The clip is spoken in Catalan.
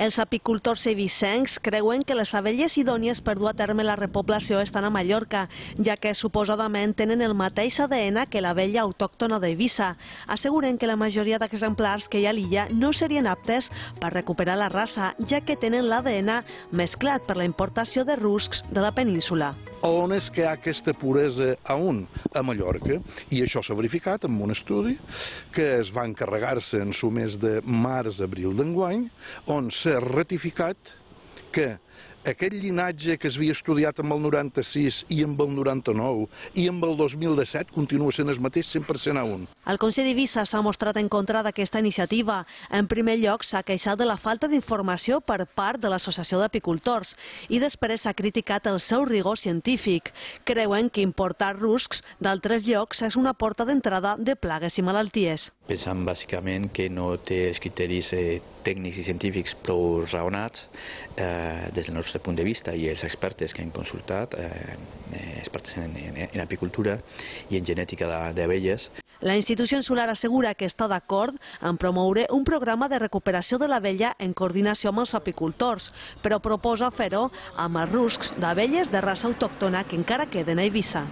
Els apicultors eivissencs creuen que les abelles idònies per dur a terme la repoblació estan a Mallorca, ja que suposadament tenen el mateix ADN que l'abella autòctona d'Eivissa. Asseguren que la majoria d'exemplars que hi ha a l'illa no serien aptes per recuperar la raça, ja que tenen l'ADN mesclat per la importació de ruscs de la península. On és que hi ha aquesta puresa a Mallorca, i això s'ha verificat en un estudi que es va encarregar-se en el mes de març-abril d'enguany, on s'ha ratificat que aquest llinatge que s'havia estudiat amb el 96 i amb el 99 i amb el 2017 continua sent el mateix 100% a un. El Consell d'Eivissa s'ha mostrat en contra d'aquesta iniciativa. En primer lloc, s'ha queixat de la falta d'informació per part de l'Associació d'Apicultors i després s'ha criticat el seu rigor científic. Creuen que importar ruscs d'altres llocs és una porta d'entrada de plagues i malalties. Pensam bàsicament que no té els criteris tècnics i científics prou raonats des del nostre punt de vista, i els experts que hem consultat, experts en apicultura i en genètica d'abelles. La institució insular assegura que està d'acord en promoure un programa de recuperació de l'abella en coordinació amb els apicultors, però proposa fer-ho amb els ruscs d'abelles de raça autòctona que encara queden a Eivissa.